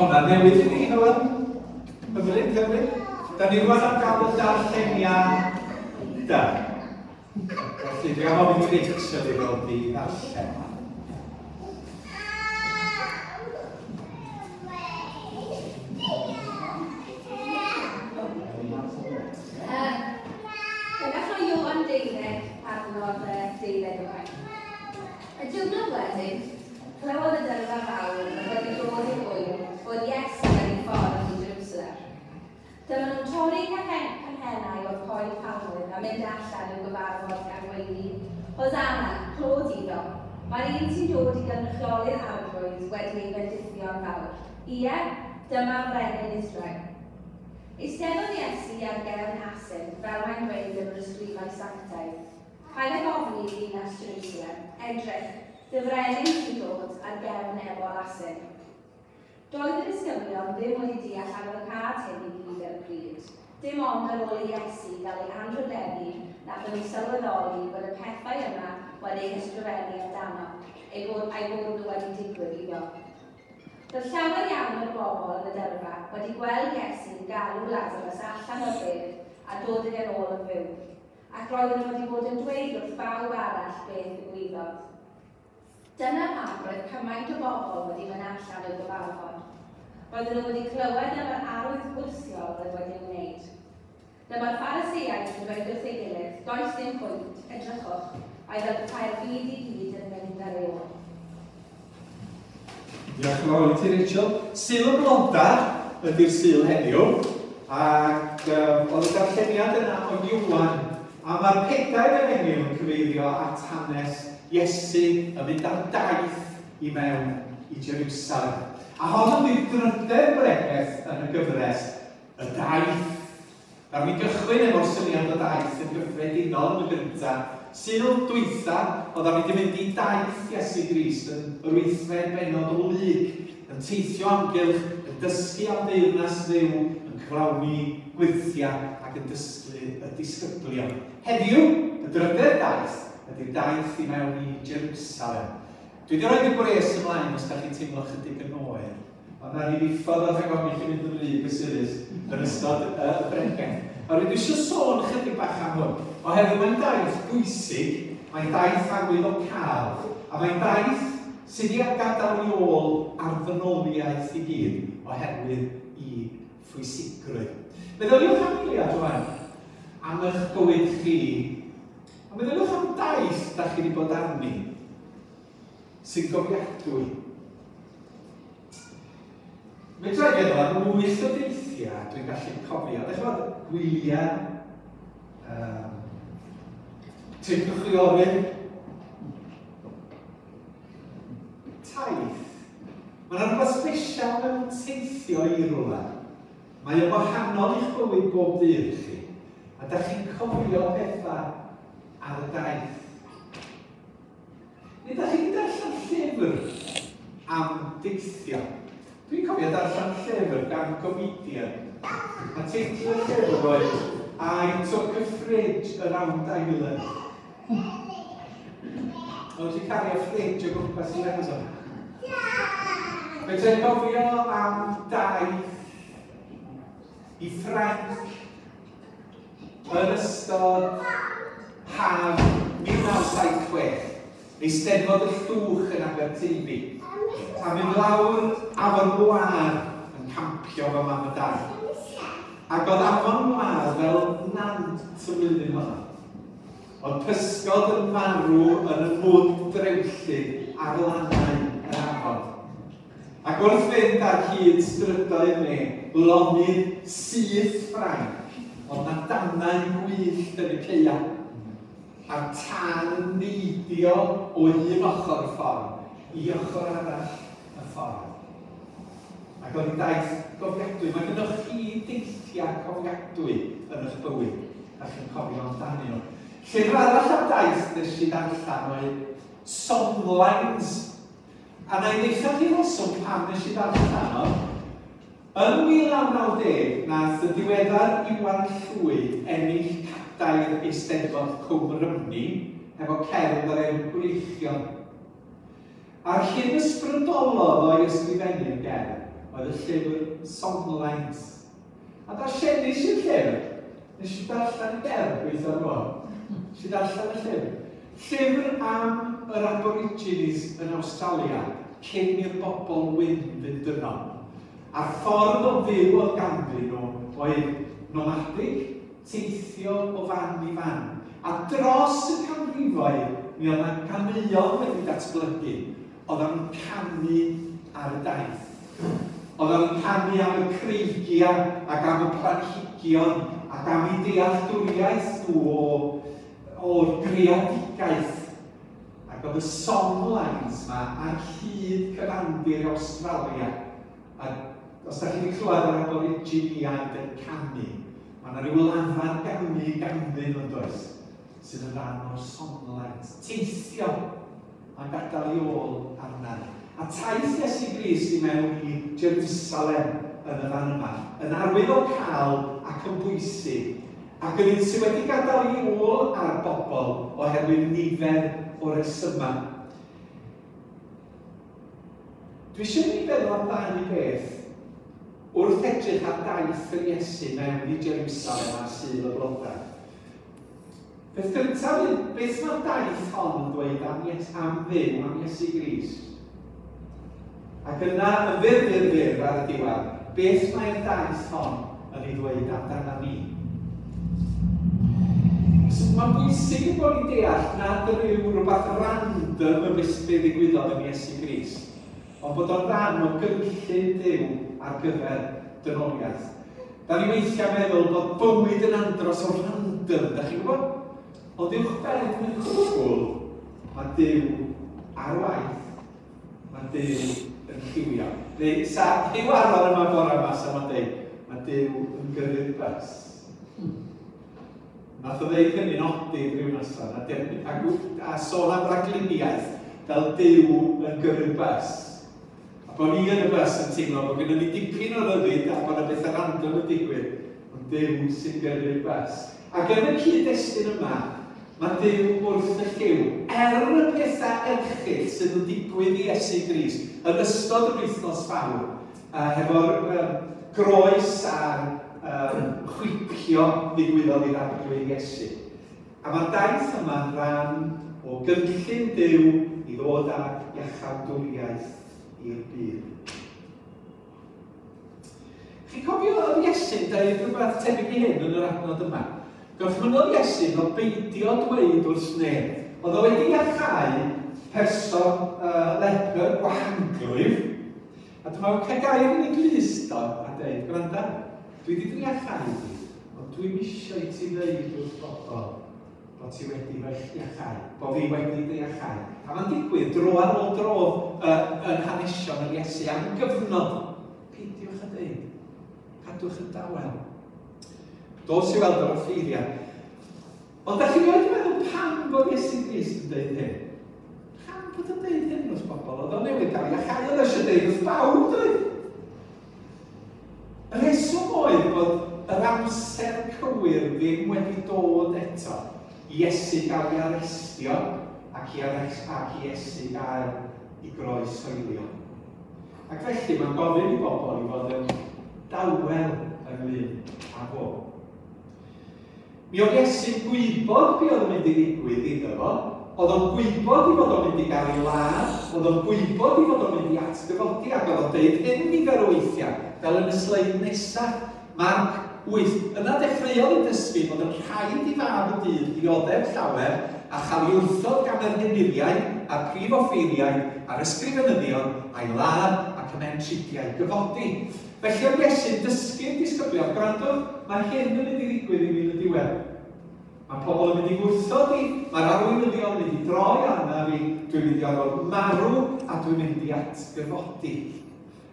Hwna newydd i ni, Hywel. Hyfryd, hyfryd. Da ni rwan am gael y darlleniad da. Felly, dwi am ofyn i Rachel i ddod i ddarllen. Gallwch Ioan deuddeg adnod deuddeg yma. Y diwrnod wedyn, clywodd y dyrfa fawr oedd wedi dod i'r ŵyl bod Iesu ar ei ffordd i Jerusalem. Dyma nhw'n torri canghennau o'r coed palmwydd a mynd allan i'w gyfarfod gan weiddi, Hosanna, clod iddo. Mae'r un sy'n dod i gynrychioli'r Arglwydd wedi ei fendithio'n fawr. Ie, dyma frenin Israel. Eisteddodd Iesu ar gefn asyn, fel mae'n dweud yn yr ysgrifau sanctaidd. Paid ag ofni ddinas Jerusalem, edrych, dy frenin sy'n dod ar gefn ebol asyn. Doedd y disgyblion ddim wedi deall arwyddocâd hyn i gyd ar y pryd. Dim ond ar ôl i Iesu gael ei anrhydeddu nath nhw sylweddoli bod y pethau yma wedi eu hysgrifennu amdano, ei bod, a'i bod nhw wedi digwydd iddo. Roedd llawer iawn o'r bobl yn y dyrfa wedi gweld Iesu'n galw Lazarus allan o'r bedd a dod ag e'n ôl yn fyw, ac roedden nhw wedi bod yn dweud wrth bawb arall beth ddigwyddodd. Dyna pam roedd cymaint o bobl wedi mynd allan i'w gyfarfod. Roedden nhw wedi clywed am yr arwydd gwyrthiol oedd wedi ei wneud. Dyma'r Phariseaid yn dweud wrth ei gilydd, does dim pwynt, edrychwch, mae fel petai'r byd i gyd yn mynd ar ei ôl. Diolch yn fawr i ti, Rachel. Sul y Blodau ydy'r Sul heddiw, ac um, oedd y darlleniad yna o Ioan, a mae'r pedair efengyl yn cyfeirio at hanes Iesu yn mynd ar daith i mewn i Jerusalem. A hon ydy'r drydedd bregeth yn y gyfres, y daith. Nawr mi gychwyn efo'r syniad o daith yn gyffredinol yn y gyntaf. Sul dwytha, oedd am wedi mynd i daith Iesu Grist yn yr wythfed bennod o Luc, yn teithio amgylch, yn dysgu am deyrnas Dduw, yn cyflawni gwyrthiau ac yn dysgu y disgyblion. Heddiw, y drydedd daith, ydy'r daith i mewn i Jerusalem. Dwi wedi rhoi y gwres ymlaen os da chi'n teimlo chydig yn oer. Ond na ni ddiffodd o rhag ofn i chi mynd yn rhy gysurus yn ystod y bregeth. Ond dwi eisiau sôn chydig bach am hwn, oherwydd mae'n daith bwysig, mae'n daith arwyddocaol, a mae'n daith sydd wedi gadael i ôl ar ddynoliaeth i gyd, oherwydd i phwysigrwydd. Meddyliwch am eiliad rwan, am eich bywyd chi, a meddyliwch am daith da chi wedi bod arni, sy'n gofiadwy. Medra i feddwl am wyth o deithiau dwi'n gallu cofio. Dych chi'n gwybod, gwyliau, um, trip y chwiorydd, taith. Mae yna rhywbeth special mewn teithio i rywle. Mae o'n wahanol i'ch bywyd bob dydd chi. A da chi'n cofio pethau ar y daith. Neu da chi'n darllen llyfr am deithio. Dwi'n cofio darllen llyfr gan comedian. A teitl y llyfr oedd I Took a Fridge Around Ireland. Oedd ti'n cario fridge o gwmpas i Iwerddon. Fedra i gofio am daith i Ffrainc yn ystod haf mil naw saith chwech. Eisteddfod y Llwch yn Aberteifi. A mynd lawr Afon Loire yn campio fy mam a dad. Ac oedd Afon Loire fel nant y flwyddyn honno. Oedd pysgod yn marw yn y mwd drewllyd ar lannau yr afon. Ac wrth fynd ar hyd strydoedd me, lonydd syth Ffrainc, oedd na danau gwyllt yn y caeau. A'r tân yn neidio o un ochr y ffordd i ochr arall y ffordd. Ac oedd hi'n daith gofiadwy. Mae gennych chi deithiau cofiadwy yn eich bywyd. Da chi'n cofio amdanyn nhw. Llyfr arall am daith nes i ddarllen oedd Songlines. A na i ddeitha chi reswm pam nes i ddarllen o. Yn mil naw naw deg, nath y diweddar Iwan Llwyd ennill cadair Eisteddfod Cwm Rhymni efo cerdd o'r enw Gwreichion. A'r hyn ysbrydolodd o'i ysgrifennu'r gerdd oedd y llyfr Songlines. A darllenis i'r llyfr, nes i darllen y gerdd, gweithio nhw. Nes i darllen y llyfr. Llyfr am yr Aborigines yn Awstralia, cyn i'r bobl wyn fynd yno. A'r ffordd o fyw oedd ganddyn nhw oedd nomadig, teithio o fan i fan. A dros y canrifoedd, mi oedd yna ganeuon wedi datblygu, oedd o'n canu ar y daith. Oedd o'n canu am y creigiau ac am y planhigion ac am eu dealltwriaeth nhw o, o'r greadigaeth. Ac oedd y songlines yma ar hyd cyfandir Awstralia. A os da chi wedi clywed yr Aboriginiaid yn canu, mae yna rhyw lafar ganu ganddyn nhw'n does, sydd yn rhan o'r songlines. Teithio, mae'n gadael ei ôl arna. A taith Iesu Grist i mewn i Jerusalem yn y fan yma, yn arwydd o cael ac yn bwysig, ac yn un sydd wedi gadael ei ôl ar bobl oherwydd nifer o resymau. Dwi eisiau ni feddwl am ddau beth wrth edrych ar daith yr Iesu mewn i Jerusalem ar Sul y Blodau. Peth gyntaf yw, beth mae'r daith hon yn dweud am, Ies, am Dduw, am Iesu Grist? Ac yna, yn fyr, fyr, fyr ar y diwedd, beth mae'r daith hon yn ei ddweud amdana ni? So, mae'n bwysig i bod ni'n deall nad yw rhywbeth random y beth ddigwyddodd yn Iesu Grist, ond bod o'n rhan o gynllun Duw ar gyfer dynoliaeth. Da ni weithiau meddwl bod bywyd yn andros o random, da chi'n gwybod? Ond uwchben y cwbl, mae Duw ar waith, mae Duw yn lliwio. Neu, sa Huw Aron yma bore yma, sa ma'n deud, mae Duw yn gyrru'r bws. Nath o ddeud hynny'n odid rhyw noson, a, a, a sôn am ragluniaeth fel Duw yn gyrru'r bws. A bod ni yn y bws yn teimlo bod gennym ni dipyn o ryddid a bod yna bethau random yn digwydd, ond Duw sy'n gyrru'r bws. Ac yn y cyd-destun yma, mae Duw wrth y llyw, er y pethau erchyll sydd yn digwydd i Iesu Grist yn ystod yr wythnos fawr, uh, hefo'r um, groes a'r um, chwipio ddigwyddodd i'r Arglwydd Iesu. A mae'r daith yma'n rhan o gynllun Duw i ddod â iachawdwriaeth i'r byd. Chi'n cofio oedd Iesu'n dweud rhywbeth tebyg i hyn yn yr adnod yma? Gorchmynnodd Iesu o beidio dweud wrth neb. Oedd o wedi iachau person uh, lepr gwahanglwyf. A dyma o'n cael gair yn ei glust o a dweud, gwranda, dwi wedi dy iachau di, ond dwi'm eisiau i ti ddeud wrth bobl bod ti wedi fy iachau, bod fi wedi dy iachau. A mae'n digwydd dro ar ôl dro uh, yn hanesion yr Iesu am gyfnod. Peidiwch a dweud, cadwch yn dawel. Dos i weld yr offeiriad. Ond da chi'n rioed meddwl pam bod Iesu Grist yn dweud hyn? Pam bod yn dweud hyn wrth bobl? Oedd o'n newydd gael iachau, oedd eisiau dweud wrth bawb, dweud. Y rheswm oedd bod yr amser cywir ddim wedi dod eto i Iesu gael ei arestio ac i, arest, ac i Iesu gael ei groeshoelio. Ac felly mae'n gofyn i bobl i fod yn dawel ynglyn â fo. Mi oedd Iesu'n gwybod be oedd yn mynd i ddigwydd iddo fo. Oedd o'n gwybod i fod o'n mynd i gael ei ladd, oedd o'n gwybod i fod o'n mynd i atgyfodi, ac oedd o'n deud hyn nifer o weithiau, fel yn y sleid nesaf, Marc wyth. Yna dechreuodd y dysgu bod yn rhaid i fab y dyn ddioddef llawer a chael ei wrthod gan yr henuriaid a'r prif offeiriaid a'r ysgrifenyddion a'i ladd ac ymhen tridiau gyfodi. Felly oedd Iesu'n dysgu'r disgyblion, gwrandwch, mae hyn yn mynd i ddigwydd i mi yn y diwedd. Mae pobl yn mynd i wrthod i, mae'r arweinyddion yn mynd i droi arna fi, dwi'n mynd i orfod marw a dwi'n mynd i atgyfodi.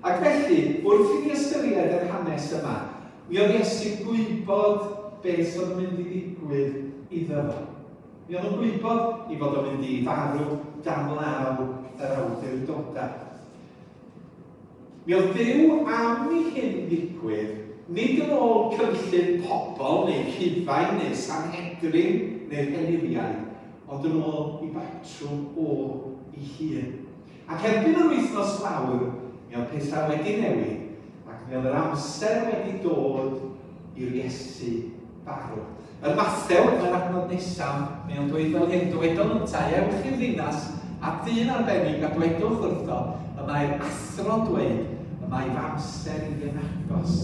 Ac felly, wrth i ni ystyried yr hanes yma, mi oedd Iesu'n gwybod beth oedd yn mynd i ddigwydd iddo fo. Mi oedd o'n gwybod i fod o'n mynd i farw dan law yr awdurdodau. Mi oedd Duw am i hyn ddigwydd, nid yn ôl cynllun pobl neu Rhufain neu Sanhedrin neu'r henuriaid, ond yn ôl i batrwm o ei hun. Ac erbyn yr wythnos fawr, mi oedd pethau wedi newid, Ac mi oedd yr amser wedi dod i'r Iesu farw. Yr Mathew, yn yr adnod nesaf, mae o'n dweud fel hyn, dywedodd yntau, ewch i'r ddinas a dyn arbennig a dwedwch wrtho, y mae'r athro'n dweud, y mae fy amser i yn agos.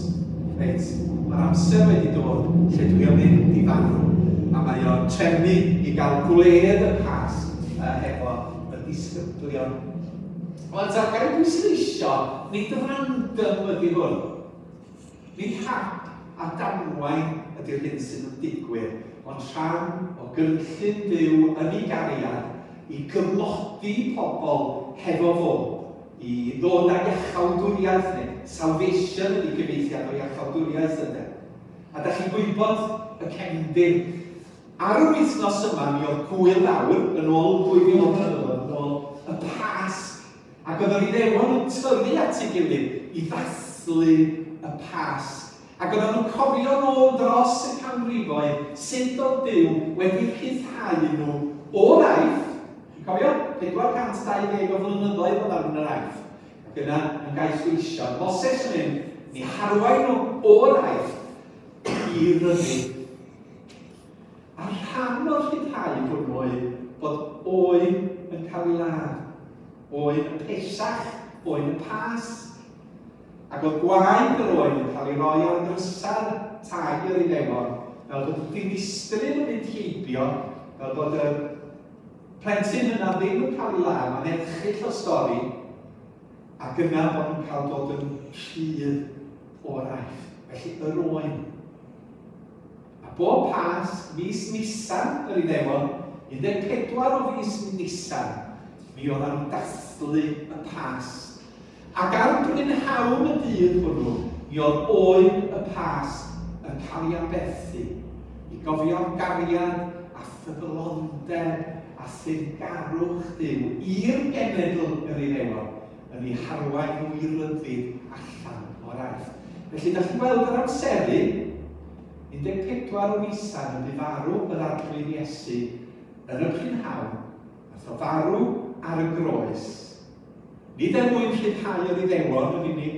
Reit, mae'r amser wedi dod lle dwi am mynd i farw. A mae o'n trefnu i gael gwledd y Pasg uh, hefo y disgyblion. Wel, ta, gael ei bwysleisio, nid random ydy hwn. Nid hap a damwain ydy'r hyn sydd yn digwydd, ond rhan o gynllun Duw yn ei gariad i gymodi pobl hefo fo, i ddod â iachawdwriaeth neu salvation ydy gyfieithiad o iachawdwriaeth ydy. A da chi'n gwybod y cefndir. Ar yr wythnos yma, mi oedd gwyl fawr yn ôl dwy fil o flynyddoedd, yn ôl y Pasg. Ac oedd yr Iddewon yn tyrru at ei gilydd i ddathlu y Pasg. Ac oedden nhw'n cofio nôl dros y canrifoedd sut oedd Duw wedi rhyddhau nhw o'r Aifft. Chi'n cofio? pedwar cant dau ddeg o flynyddoedd oedd arnyn yr Aifft. Ac yna yn gaethweision. Moses yn mynd, ni harwain nhw o'r Aifft i ryddid. A rhan o'r rhyddhau hwnnw oedd bod oen yn cael ei ladd. Oen y Pesach, oen y Pasg. Ac oedd gwaed yr oen yn cael ei roi ar ddrysau'r tai yr Iddewon, fel bod y dinistryn yn mynd heibio, fel bod y plentyn yna ddim yn cael ei ladd, mae'n erchyll o stori, ac yna bod nhw'n cael dod yn rhydd o'r Aifft. Felly yr oen. A bob Pasg, mis Nisan yr Iddewon, un deg pedwar o fis Nisan, mi oedden nhw'n dathlu y Pasg. Ac ar brynhawn y dydd hwnnw, mi oedd oen y Pasg yn cael ei aberthu i gofio gariad a ffyddlondeb a thyrgarwch Duw i'r genedl yr Iddewon yn ei harwain nhw i ryddid allan o'r Aifft. Felly, da chi'n gweld yr amseru, un deg pedwar o Nisan yn farw yr Arglwydd Iesu yn y prynhawn, nath o farw ar y groes. Nid er mwyn rhyddhau yr Iddewon yn unig,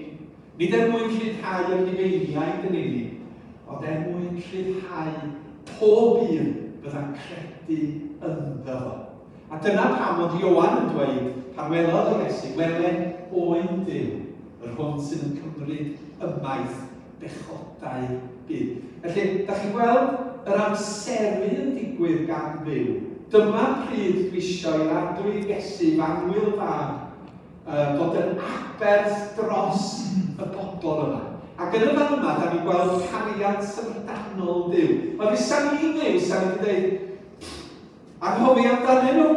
nid er mwyn rhyddhau yr Rhufeiniaid yn unig, ond er mwyn rhyddhau pob un fydda'n credu ynddo fo. A dyna pam oedd Ioan yn dweud, pan welodd yr Iesu, wele oen Duw, yr hwn sydd yn cymryd ymaith bechodau byd. Felly, da chi'n gweld yr amseru yn digwydd gan Dduw. Dyma pryd dwi isio i'r Arglwydd Iesu, f'annwyl fab, Uh, fod yn aberth dros y bobl yma. Ac yn y fan yma, da ni'n gweld cariad syfrdanol Duw. Mae fysa ni'n Dduw, sa ni wedi dweud, anghofio amdanyn nhw.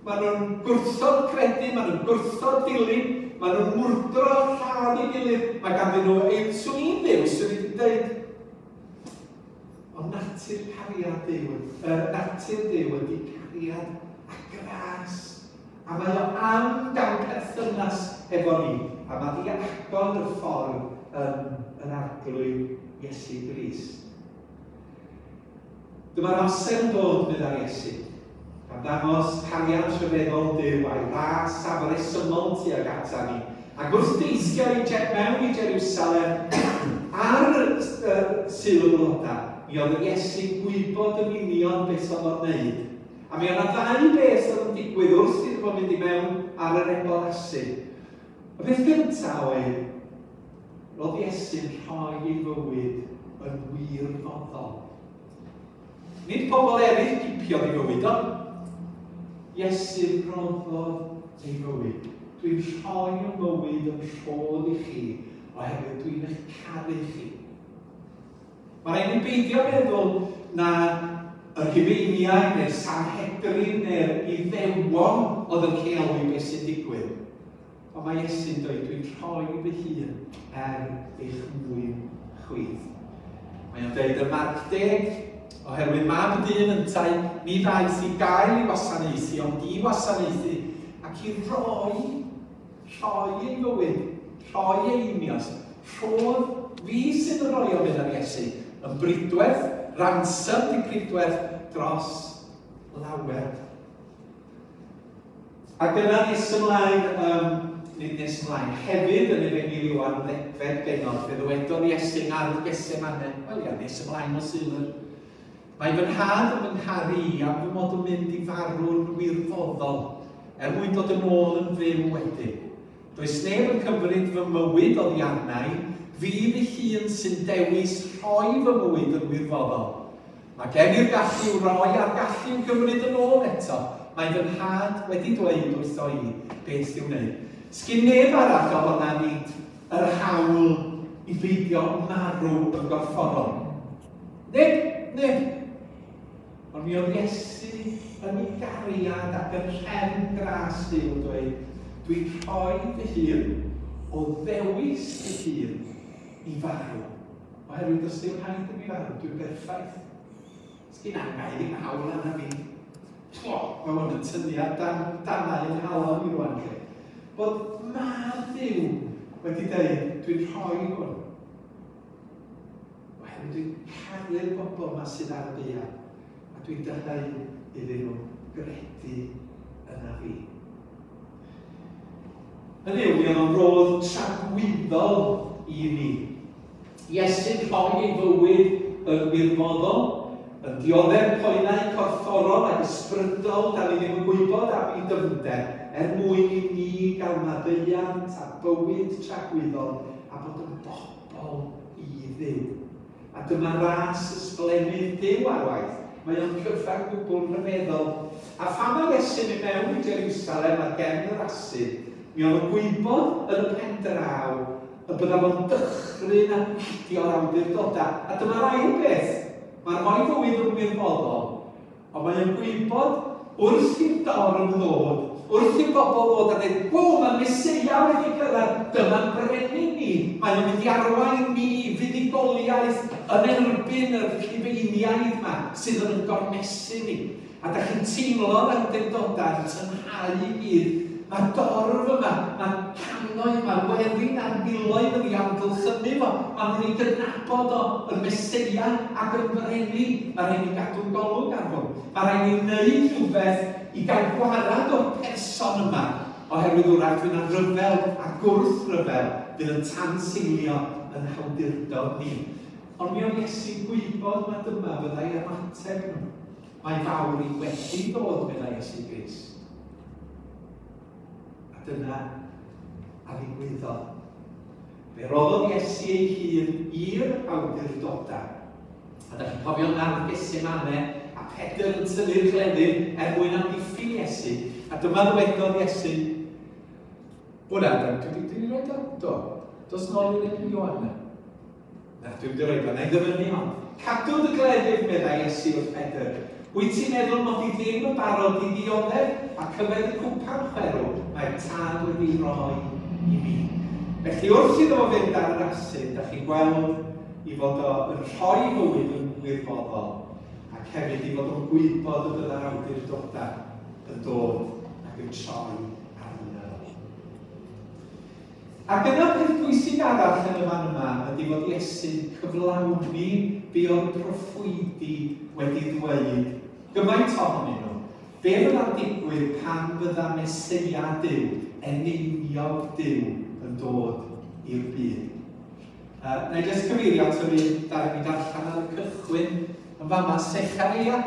Maen nhw'n gwrthod credu, maen nhw'n gwrthod dilyn, maen nhw'n mwrdro lladd ei gilydd. Mae ganddyn nhw, ei, swn i'n Dduw, swn i wedi dweud, ond natur cariad Duw, uh, natur Duw ydy cariad a gras. A mae o am gael perthynas efo ni, a mae di agor y ffordd yn yr Arglwydd Iesu Grist. Dyma'r amser yn dod, meddai Iesu, gan ddangos cariad rhyfeddol Duw a'i ras afresymol tuag ata ni. Ac wrth deithio i mewn i Jerusalem ar uh, Sul y Blodau, mi oedd yr Iesu'n gwybod yn union beth oedd o'n wneud. A mi oedd yna ddau beth oedd yn digwydd wrth iddo fo mynd i mewn ar yr ebol asu. Y peth gyntaf oedd, roedd Iesu'n rhoi ei fywyd yn wirfoddol. Nid pobl eraill gipiodd ei fywyd, ond Iesu roddodd ei fywyd. Dwi'n rhoi y mywyd yn rhodd i chi, oherwydd dwi'n eich caru chi. Mae rhaid ni beidio meddwl na y Rhufeiniaid neu'r Sanhedrin neu'r Iddewon oedd yn rheoli beth sy'n digwydd. Ond mae Iesu'n dweud, dwi'n rhoi fy hun er eich mwyn chwith. Mae o'n dweud ym Marc deg, oherwydd mab y dyn yntau, ni ddaeth i gael ei wasanaethu, ond i wasanaethu, ac i roi, rhoi ei fywyd, rhoi ei unios, rhodd fi sydd yn rhoi o mynd ar Iesu, yn bridwerth, ransom di pridwerth dros lawer. Ac yna nes ymlaen, um, nid nes ymlaen, hefyd yn Efengyl Ioan ddegfed bennod, fe ddywedodd Iesu yn ardd Gethsemane, wel ia, nes ymlaen o Sul. Mae fy nhad yn fy ngharu i am fy mod yn mynd i farw'n wirfoddol, er mwyn dod yn ôl yn fyw wedyn. Does neb yn cymryd fy mywyd oddi arna i, fi fy hun sy'n dewis rhoi fy mywyd yn wirfoddol. Mae gen i'r gallu i'w roi a'r gallu i'w gymryd yn ôl eto. Mae fy nhad wedi dweud wrtho i beth i'w wneud. Sgyn neb arall ohona ni yr hawl i beidio marw yn gorfforol. Neb, neb. Ond mi oedd Iesu yn ei gariad ac yn rhefn gras Duw yn dweud, dwi'n rhoi fy hun o ddewis fy hun i farw. Oherwydd does dim rhaid i mi farw, dwi'n berffaith. Sgyn angau ddim hawl arna fi. O, mae hwn yn tynnu ar dan, danau yng nghalon i rwan lle. Bod mab Duw wedi dweud, dwi'n rhoi hwn. Oherwydd dwi'n caru'r bobl yma sydd ar y ddaear, a dwi'n dyheu iddyn nhw gredu yna fi. Hynny yw, mi oedd o'n rodd tragwyddol i ni. Iesu'n rhoi ei fywyd yn wirfoddol, yn dioddef poenau corfforol ac ysbrydol, da ni ddim yn gwybod am ei dyfnder, er mwyn i ni gael maddeuant a bywyd tragwyddol a bod yn bobl i Dduw. A dyma ras ysblennydd Duw ar waith. Mae o'n cyfan gwbl rhyfeddol. A phan mae Iesu'n mynd mewn i Jerusalem ar gefn yr asyn, mi oedd o'n gwybod yn y pen draw y bydda fo'n dychryn a gwylltio'r awdurdodau. A dyma'r ail beth. Mae'n rhoi fywyd yn wirfoddol, ond mae'n gwybod wrth i'r dorf ddod, wrth i'r bobl ddod a dweud, wo, mae'r Meseia wedi cyrraedd, dyma'n brenin ni. Mae'n mynd i arwain ni i fuddugoliaeth yn erbyn y Rhufeiniaid yma sydd yn gormesu ni. A da chi'n teimlo'r awdurdodau yn tynhau i gyd. Mae'r dorf yma, mae'r cannoedd, mae'r werin a'r miloedd yn ei amgylchynu fo. Maen nhw'n ei gydnabod o yn Meseia ac yn brenin. Mae rhaid ni gadw golwg ar hwn. Mae rhaid ni wneud rhywbeth i gael gwarad o'r person yma, oherwydd wrach fydd yna ryfel a gwrthryfel fydd yn tanseilio yn hawdurdod ni. Ond mi oedd Iesu'n gwybod mai dyma fyddai ymateb nhw. Mae fawr i wedi dod, meddai Iesu Grist. A dyna a ddigwyddodd. Fe roddodd Iesu ei hun i'r awdurdodau. A da chi'n cofio ardd Gethsemane a Pedr yn tynnu'r cleddyf er mwyn amddiffyn Iesu. A dyma ddywedodd Iesu, Hwna, dwi wedi rhoi o? Do. Dos nôl i'r un Ioan na. Na, dwi wedi rhoi o, na i ddyfynnu hon. Cadw dy gleddyf, meddai Iesu wrth Pedr. Wyt ti'n meddwl mod i ddim yn barod i ddioddef ac yfed y cwpan chwerw mae'r tad wedi rhoi i mi. Felly wrth iddo fo fynd ar yr asyn, da chi'n gweld i fod o yn rhoi fywyd yn wirfoddol ac hefyd i fod o'n gwybod y bydda'r awdurdodau yn dod ac yn troi arno fo. Ac yna peth pwysig arall yn y fan yma ydy fod Iesu'n cyflawni be oedd proffwydi wedi ddweud gymaint ohonyn nhw. Be fydda'n digwydd pan fydda Meseia Duw, eneiniog Duw, yn dod i'r byd. Uh, na i jyst cyfeirio at yr un ddaru ni darllen ar y cychwyn yn fama, Sechareia,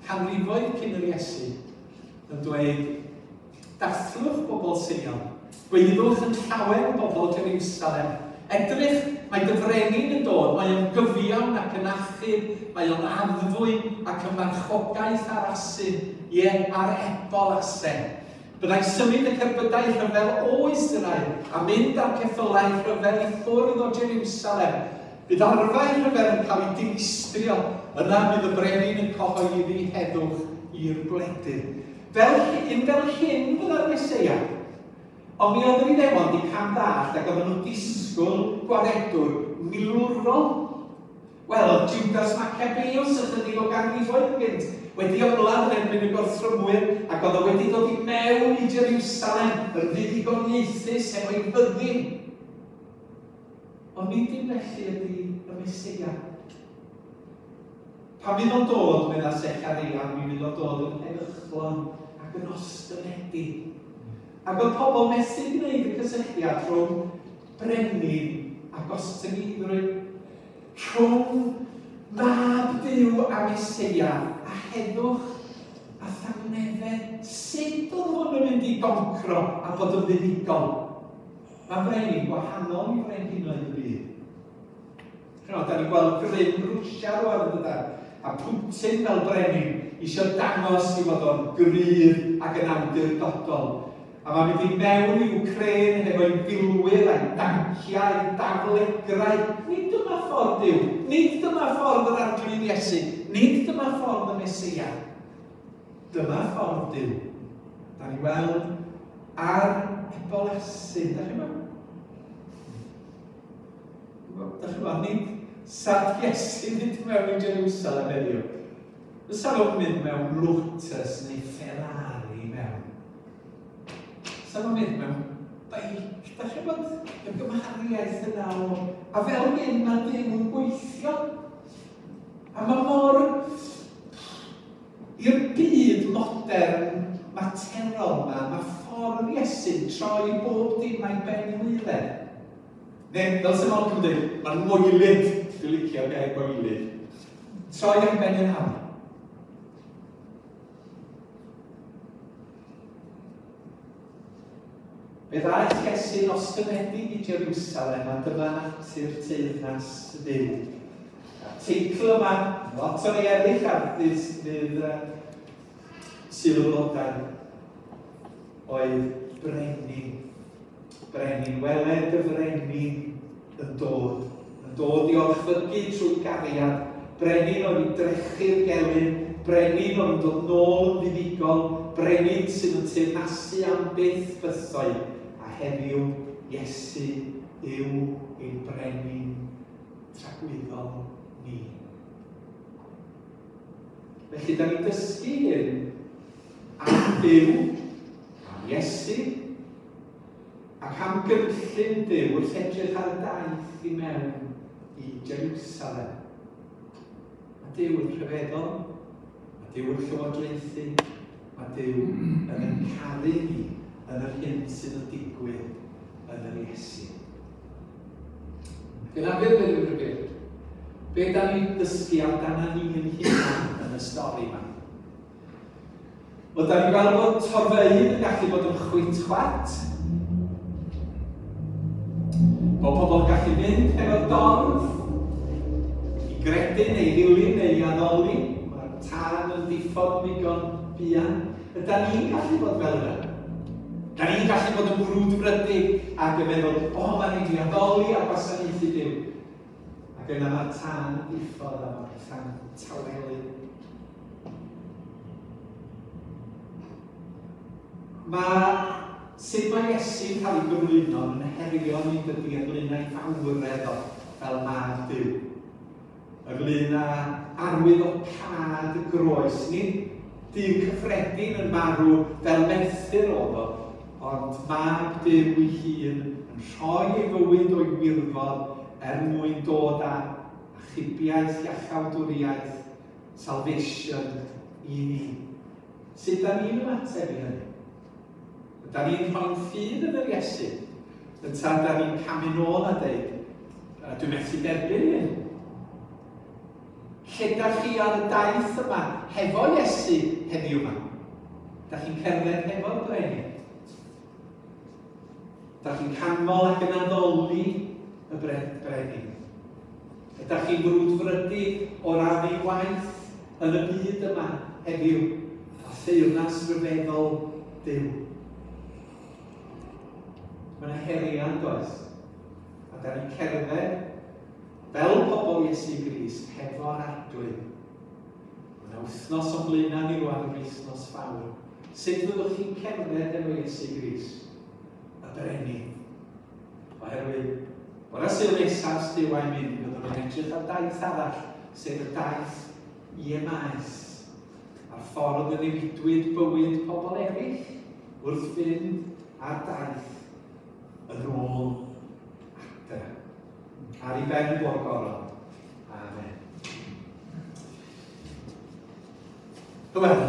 canrifoedd cyn yr Iesu, yn dweud, dathlwch bobl Seion, gwaeddwch yn llawer bobl Jerusalem. Edrych, mae dy frenin yn dod, mae o'n gyfiawn ac yn achub, mae o'n addfwyn ac yn marchogaeth ar asyn, ie, ar ebol asen. Byddai'n symud y cerbydau rhyfel o Israel a mynd â'r ceffylau rhyfel i ffwrdd o Jerusalem. Bydd arfau rhyfel yn cael ei dinistrio, yna bydd y brenin yn cyhoeddi heddwch i'r gwledydd. Fel, un fel hyn fydda'r Meseia. Ond mi oedd yr Iddewon wedi cam ddallt ac oedden nhw'n disgwyl gwaredwr milwrol. Wel, oedd Judas Maccabeus ychydig o ganrifoedd gynt wedi ymladd yn erbyn y gorthrymwyr ac oedd o wedi dod i mewn i Jerusalem yn fuddugoliaethus efo'i fyddin. Ond nid dim felly ydy y Meseia. Pan fydd o'n dod, medda Sechareia, mi fydd o'n dod yn heddychlon ac yn ostynedig. Ac oedd pobl methu gwneud y cysylltiad rhwng brenin a gostyngeiddrwydd, rhwng mab Duw a Meseia a heddwch a thangnefedd. Sut oedd hwn yn mynd i goncro a bod yn fuddugol? Mae brenin gwahanol i frenhinoedd y byd. Ch'mod, da ni'n gweld grym Rwsia rwan yn dydan, a Putin fel brenin eisiau dangos i fod o'n gryf ac yn awdurdodol. A mae'n mynd i mewn i Wcráin hefo'i filwyr a'i danciau, a'i daflegrau. Nid dyma ffordd Duw, nid dyma ffordd yr Arglwydd Iesu, nid dyma ffordd y Meseia. Dyma ffordd Duw. Da ni weld ar ebol asyn, da chi'n gwybod? Da chi'n gwybod, nid sa Iesu mynd mewn i Jerusalem heddiw. Fysa nhw'n mynd mewn Lotus neu Ferrari mewn. Fysa nhw'n mynd mewn beic. Da chi'n gwybod, y gymhariaeth yna o... A fel hyn mae Duw yn gweithio. A mae mor... I'r byd modern materol yma, mae ffordd Iesu'n troi bob dim a'i ben i waelod. Neu, fel sy'n Malcolm yn dweud, mae'n moelyd. Dwi'n licio'r gair moelyd. Troi a'i ben yn awr. Fe ddaeth Iesu'n ostynedig i Jerusalem a dyma natur teyrnas Dduw. A'r teitl yma, lot o rei eraill ar ddydd Sul y Blodau, oedd Brenin. Brenin, weled y frenin yn dod. Yn dod i orchfygu trwy gariad. Brenin oedd i drechu'r gelyn. Brenin oedd yn dod nôl yn fuddugol. Brenin sydd yn teyrnasu am byth bythoedd. A heddiw, Iesu yw ein brenin tragwyddol ni. Felly, da ni'n dysgu hyn am Dduw, am Iesu, ac am gynllun Duw wrth edrych ar y daith i mewn i Jerusalem. Mae Duw yn rhyfeddol, mae Duw yn llywodraethu, mae Duw yn ein caru ni yn yr hyn sydd yn digwydd yn yr Iesu. Gyda beth yw'r rhyfedd? Be da ni'n dysgu amdana ni yn hunan yn y stori yma? Wel, da ni'n gweld bod torfeydd yn gallu bod yn chwit-chwat. Bod pobl yn gallu mynd hefo'r dorf i gredu neu i ddilyn neu i addoli. Mae'r tân yn diffodd ddigon buan. Ydan ni'n gallu bod fel yna? Da ni'n gallu bod yn frwdfrydig ac yn meddwl, o, mae'n rhaid i addoli a gwasanaethu Duw. Ac yna mae'r tân yn diffodd a mae'r pethau'n tawelu. Mae sut mae Iesu'n cael ei gyflwyno yn herio ni dydy ynglyn â'i fawredd o fel mab Duw. Ynglyn â arwydd o cad y groes. Nid Duw cyffredin yn marw fel merthyr oedd o, ond mab Duw ei hun yn rhoi ei fywyd o'i wirfodd er mwyn dod â achubiaeth, iachawdwriaeth, salvation i ni. Sut da ni'n ymateb i hynny? Da ni'n rhoi'n ffydd yn yr Iesu? Ynta da ni'n camu nôl a dweud, dwi'n methu derbyn hyn. Lle da chi ar y daith yma hefo Iesu heddiw yma? Da chi'n cerdded hefo'r brenin? Da chi'n canmol ac yn addoli y brenin? Ydych chi'n frwdfrydig o ran ei waith yn y byd yma heddiw a theyrnas ryfeddol Duw? Mae yna heriau, does? A da ni'n cerdded fel pobl Iesu Grist hefo'r Arglwydd. Mae yna wythnos o'n blaenau ni rwan, yr wythnos fawr. Sut fyddwch chi'n cerdded efo Iesu Grist? Y brenin. Oherwydd, bore Sul nesaf Duw a'i mynd, byddwn ni'n edrych ar daith arall, sef y daith i Emaus, a'r ffordd y newidwyd bywyd pobl eraill wrth fynd ar daith yn ôl adre. Ar ei ben bo'r goron. Amen. Wel,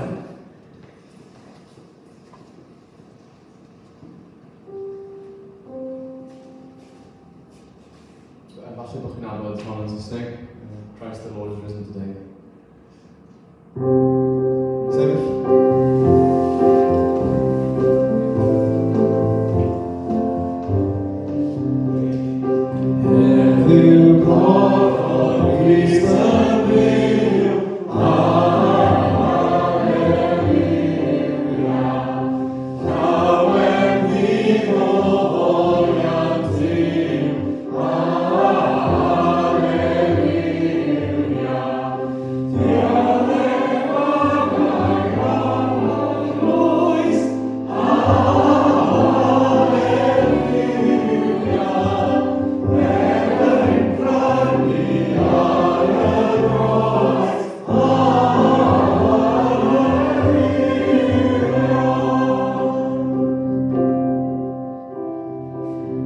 Falle bod chi'n nabod hon yn Saesneg. Christ the Lord is risen today. Sefyll. Heddiw cododd Grist yn fyw, Alleluia. Llawen ddigof oliant Duw, Alleluia. Diolch oes, Alleluia. Efo'n prynu ar y groes, Alleluia.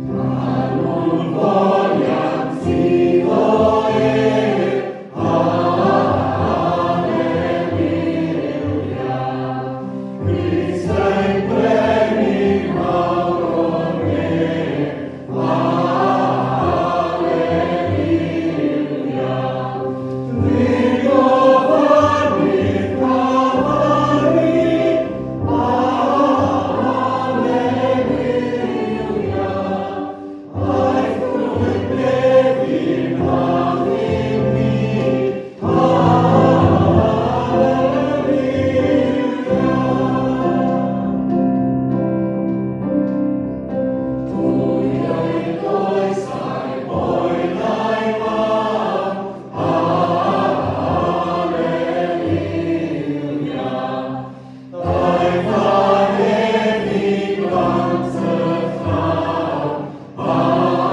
Canwn foliant iddo ef, Alleluia. Grist ein brenin mawr o'r nef, Alleluia. Dringodd fynydd Calfari, Alleluia. Aeth drwy'r nefyn a ddim ni, Alleluia. Trwy ei oes a'i boen a'i farn, Alleluia. Daeth ag ef i blant y llan, Alleluia.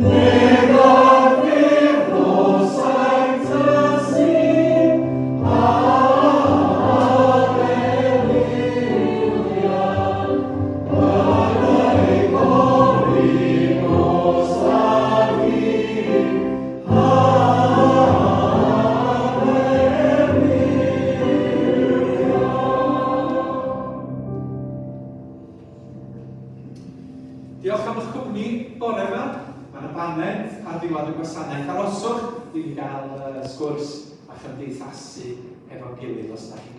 Nef ar ffurf o saint y Sul, Alleluia. Yn ei gori nos a dydd, Alleluia. Diolch am eich cwmni bore yma. Mae yna baned ar ddiwedd y gwasanaeth. Aroswch i ni gael uh, sgwrs a chymdeithasu efo'n gilydd os da chi'n